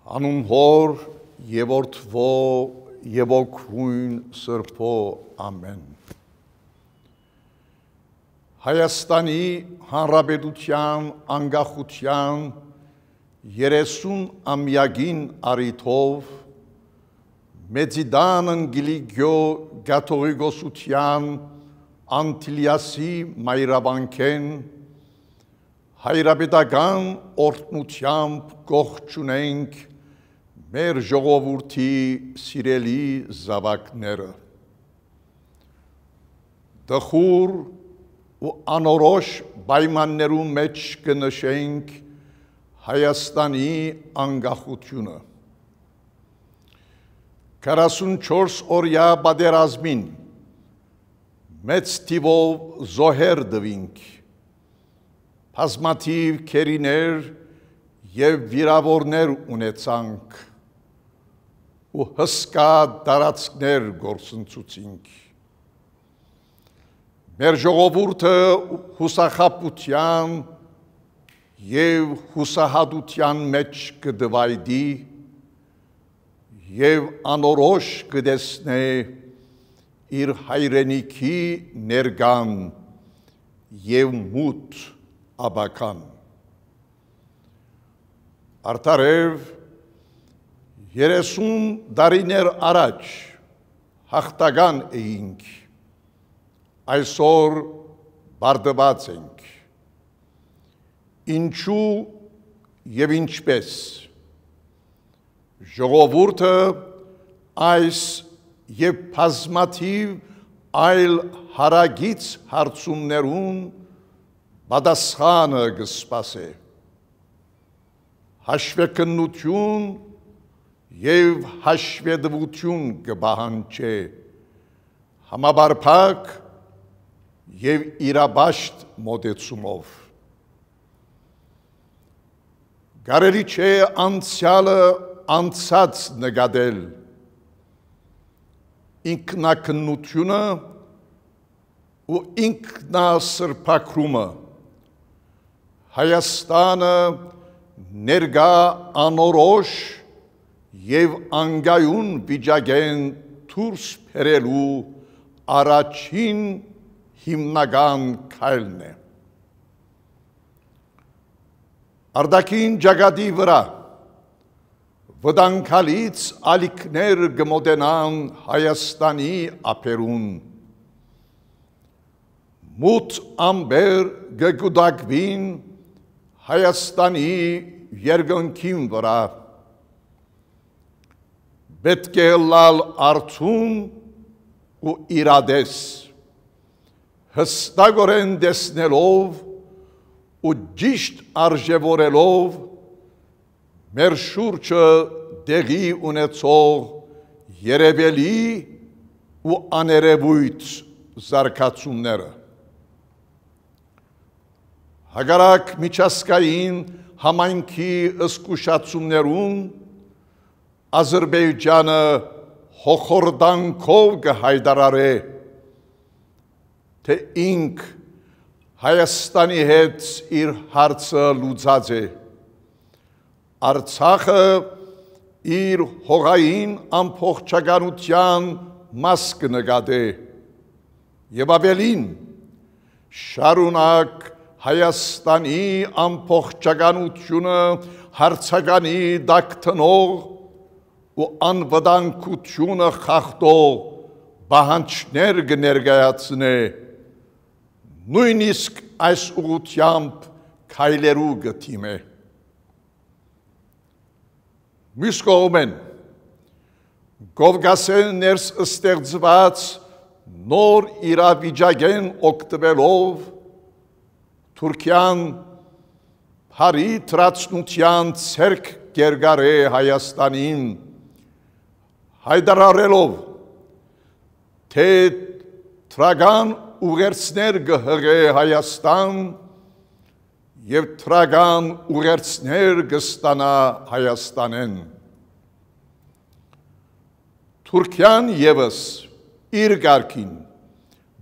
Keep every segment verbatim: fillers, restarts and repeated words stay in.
Անուն Հօր եւ Որդւոյ եւ Ոգւոյն Սրբոյ։ Ամէն։ Հայաստանի Հանրապետութեան անկախութեան երեսուն ամեակին առիթով Մեծի Տան Անկիլիկիոյ կաթողիկոսութեան Անտիլիասի մայրավանքէն հայրապետական օրհնութեամբ կ'ողջունենք մեր ժողովուրդի սիրելի զաւակները։ Տխուր ու անորոշ պայմաններու մէջ կը նշենք Հայաստանի անկախութիւնը։ Քառասունչորս օրեայ պատերազմին մեծ թիւով զոհեր տուինք, բազմաթիւ գերիներ եւ վիրաւորներ ունեցանք ու հսկայ տարածքներ կորսնցուցինք։ Մեր ժողովուրդը յուսախաբութեան եւ յուսահատութեան մէջ կը տուայտի եւ անորոշ կը տեսնէ իր հայրենիքի ներկան եւ մութ ապագան։ Արդարեւ, երեսուն տարիներ առաջ յաղթական էինք, այսօր պարտուած ենք։ Ինչու եւ ինչպէս։ Ժողովուրդը այս եւ բազմաթիւ այլ հարակից հարցումներուն պատասխանը կը սպասէ։ Հաշուեքննութիւն եւ հաշուետուութիւն կը պահանջէ համապարփակ եւ իրապաշտ մօտեցումով։ Կարելի չէ անցեալը անցած նկատել, ինքնակննութիւնը ու ինքնասրբագրումը, Հայաստանը ներկայ անորոշ եւ անկայուն վիճակէն դուրս բերելու առաջին հիմնական քայլն է։ Արտաքին ճակատի վրայ վտանգալից ալիքներ կը մօտենան Հայաստանի ափերուն։ Մութ ամպեր կը կուտակուին Հայաստանի երկնքին վրայ։ Պէտք է ըլլալ արթուն ու իրատես, յստակօրէն տեսնելով ու ճիշտ արժեւորելով մեր շուրջը տեղի ունեցող երեւելի ու աներեւոյթ զարգացումները։ Հակառակ միջազգային համայնքի զգուշացումներուն, Ադրբեջանը հոխորտանքով կը յայտարարէ, թէ ինք Հայաստանի հետ իր հարցը լուծած է։ Արցախը իր հողային ամբողջականութեան մաս կը նկատէ եւ աւելին, շարունակ Հայաստանի ամբողջականութիւնը հարցականի տակ դնող ու անվտանգութիւնը խախտող պահանջներ կը ներկայացնէ, նոյնիսկ այս ուղղութեամբ քայլերու կը դիմէ։ Միւս կողմէն, Կովկասէն ներս ստեղծուած նոր իրավիճակէն օգտուելով, Թուրքիան բարի դրացնութեան ձեռք կերկարէ Հայաստանին, յայտարարելով, թէ դրական ուղերձներ կը յղէ Հայաստան եւ դրական ուղերձներ կը ստանայ Հայաստանէն։ Թուրքիան եւս իր կարգին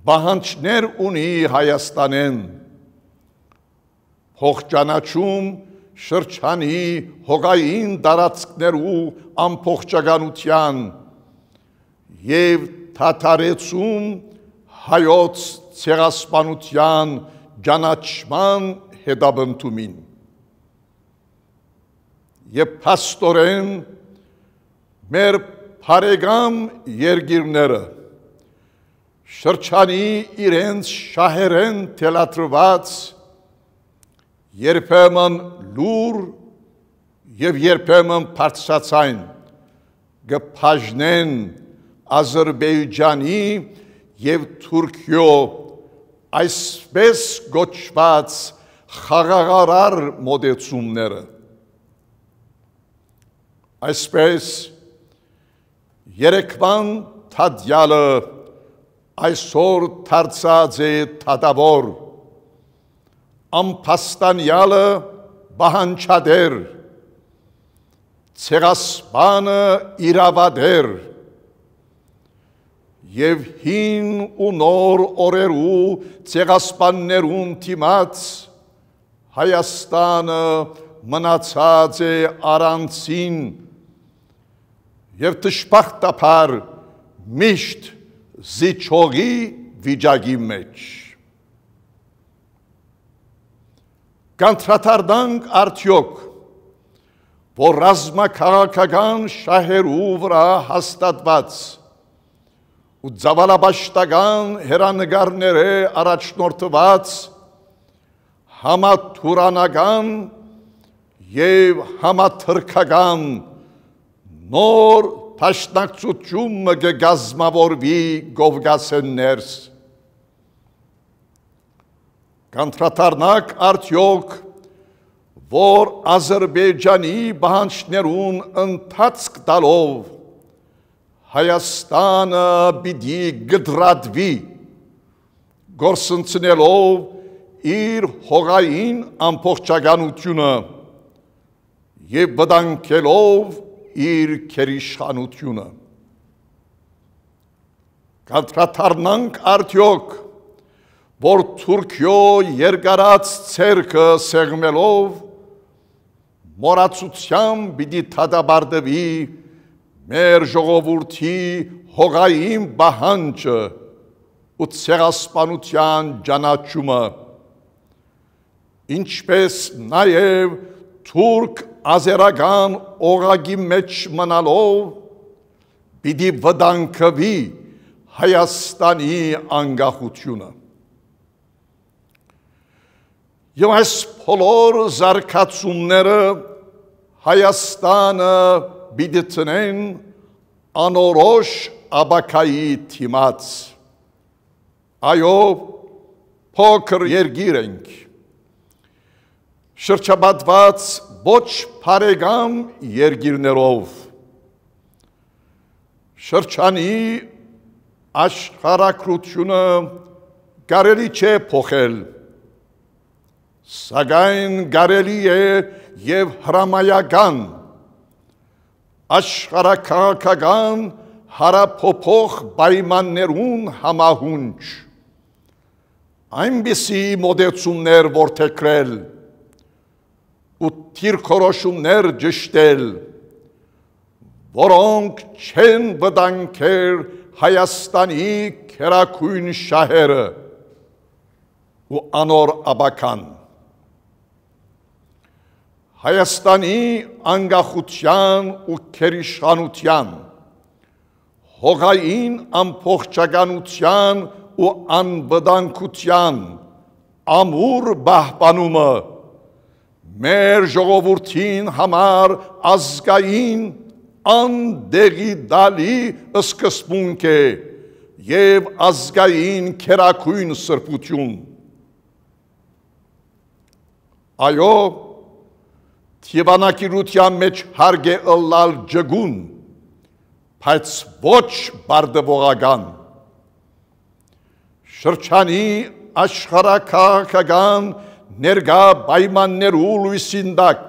պահանջներ ունի Հայաստանէն, փոխճանաչում շրջանի հողային տարածքներու ամբողջականութեան եւ դադարեցում հայոց ցեղասպանութեան ճանաչման հետապնդումին։ Եւ փաստօրէն մեր բարեկամ երկիրները շրջանի իրենց շահերէն թելադրուած, երբեմն լուռ եւ երբեմն բարձրաձայն կը բաժնեն Ադրբեջանի եւ Թուրքիոյ այսպես կոչուած խաղաղարար մոտեցումները։ Այսպես, երեկվան դատեալը այսօր դարձած է դատաւոր, ամբաստանեալը պահանջատէր, ցեղասպանը իրաւատէր, եւ հին ու նոր օրերու ցեղասպաններուն դիմաց Հայաստանը մնացած է առանցին եւ դժբախտաբար միշտ զիջողի վիճակի մէջ։ Կանդրադառնանք արդեօք, որ ռազմաքաղաքական շահերու վրայ հաստատուած ու ծաւալապաշտական հերանեկարներէ առաջնորդուած համաթուրանական եւ համաթրքական նոր դաշնակցութիւն մը կը կազմաւորուի Կովկասէն ներս։ Կանդրադառնանք արդեօք, որ Ադրբեջանի պահանջներուն ընթացք տալով Հայաստանը պիտի կտրատուի գործընծնելով իր հողային ամբողջականութիւնը եւ վտանգելով իր գերիշխանութիւնը։ Կանդրադառնանք արդեօք, որ Թուրքիոյ երկարած ձեռքը սեղմելով մոռացութեան պիտի դատապարտուի մեր ժողովուրդի հողային պահանջը ու ցեղասպանութեան ճանաչումը, ինչպէս նաեւ թուրք-ազերական օղակի մէջ մնալով պիտի վտանգուի Հայաստանի անկախութիւնը։ Եւ այս բոլոր զարգացումները Հայաստանը պիտի դնեն անորոշ ապագայի դիմաց։ Այո, փոքր երկիր ենք, շրջապատուած ոչ բարեկամ երկիրներով։ Շրջանի աշխարհագրութիւնը կարելի չէ փոխել, սակայն կարելի է եւ հրամայական աշխարհաքաղաքական հարաբոբող պայմաններուն համահունչ այնպիսի մոտեցումներ որդեգրել ու դիրքորոշումներ ճշտել, որոնք չեն վտանգեր Հայաստանի գերագոյն շահերը ու անոր ապագան։ Հայաստանի անկախութեան ու գերիշխանութեան, հողային ամբողջականութեան ու անվտանգութեան ամուր պահպանումը մեր ժողովուրդին համար ազգային անդեղի տալի սկզբունք է եւ ազգային գերագոյն սրբութիւն։ Այո, դիւանագիտութեան մէջ հարկ է ըլլալ ճկուն, բայց ոչ պարտուողական։ Շրջանի աշխարհաքաղաքական ներկայ պայմաններու լոյսին տակ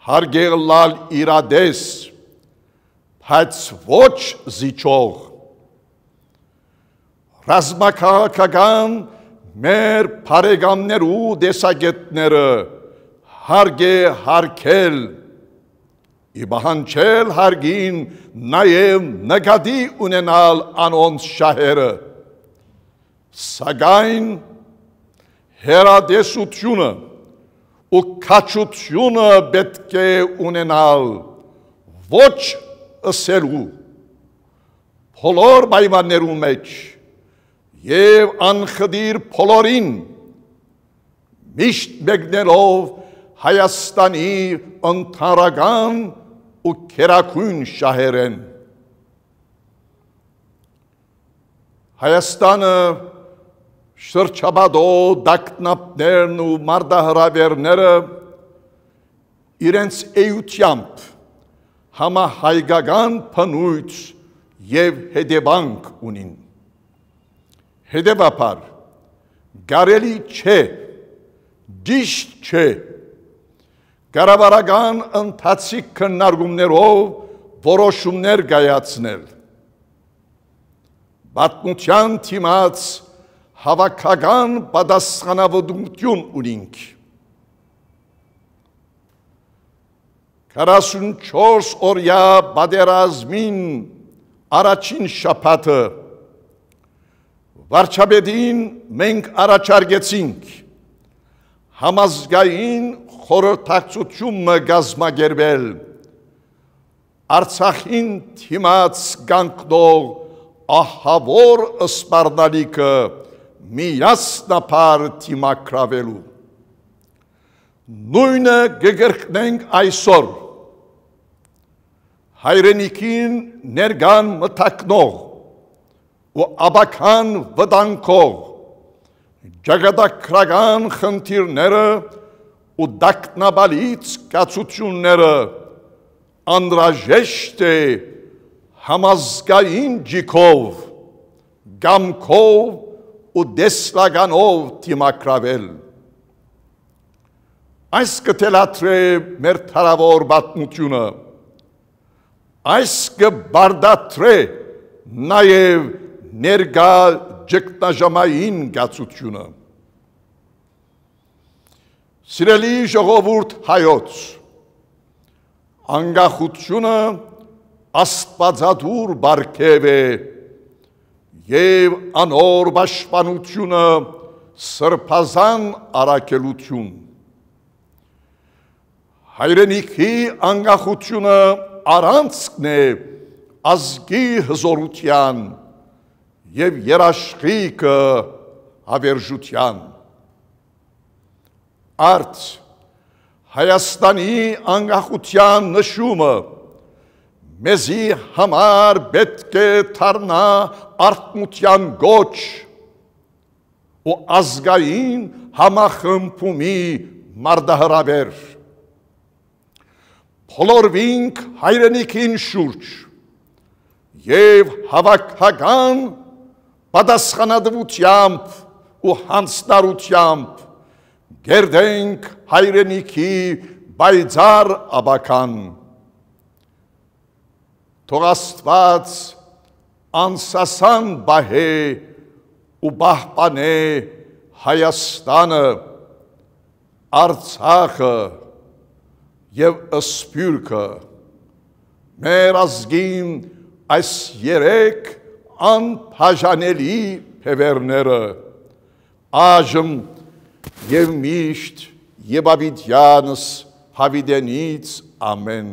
հարկ է ըլլալ իրատես, բայց ոչ զիջող։ Ռազմաքաղաքական մեր բարեկամներու տեսակէտները Հարգ է հարգել, ի պահանջել հարգին, նաեւ նկատի ունենալ անոնց շահերը։ Սակայն հեռատեսութիւնը ու քաջութիւնը պէտք է ունենալ, ոչ ըսելու, բոլոր պայմաններուն մէջ եւ անխտիր բոլորին, միշտ մեկնելով Հայաստանի ընդհանրական ու գերագոյն շահերէն։ Հայաստանը շրջապատող տագնապներն ու մարտահրաւէրները իրենց էութեամբ համահայկական բնոյթ եւ հետեւանք ունին։ Հետեւաբար, կարելի չէ, ճիշտ չէ, կառավարական ընթացիկ քննարկումներով որոշումներ կայացնել։ Պատմութեան դիմաց հաւաքական պատասխանաւորութիւն ունինք։ Քառասունչորս օրեայ պատերազմին առաջին շաբաթը վարչապետին մենք առաջարկեցինք համազգային խորհրդակցութիւն մը կազմակերպել Արցախին դիմաց կանգնող ահաւոր սպառնալիքը միասնաբար դիմագրաւելու։ Նոյնը կը կրկնենք այսօր։ Հայրենիքին ներկան մտակնող ու ապագան վտանգող ճակատագրական խնդիրները ու տագնապալից կացութիւնները անհրաժեշտ է համազգային ճիգով, կամքով ու տեսլականով դիմագրաւել։ Այս կը թելադրէ մեր դարաւոր պատմութիւնը, այս կը պարտադրէ նաեւ ներկայ ճգնաժամային կացութիւնը։ Սիրելի ժողովուրդ հայոց, անկախութիւնը աստուածատուր պարգեւ է եւ անոր պաշտպանութիւնը սրբազան առաքելութիւն։ Հայրենիքի անկախութիւնը առանցքն է ազգի հզօրութեան եւ երաշխիքը հավերժութեան։ Արդ, Հայաստանի անկախութեան նշումը մեզի համար պէտք է դառնայ արթնութեան կոչ ու ազգային համախմբումի մարտահրաւէր։ Բոլորուինք հայրենիքին շուրջ եւ հաւաքական պատասխանատուութեամբ ու յանձնառութեամբ կերտենք հայրենիքի պայծառ ապագան։ Թող Աստուած անսասան պահէ ու պահպանէ Հայաստանը, Արցախը եւ Սփիւռքը, մեր ազգին այս երեք անբաժանելի բեւեռները, այժմ եւ միշտ եւ յաւիտեանս յաւիտենից։ Ամէն։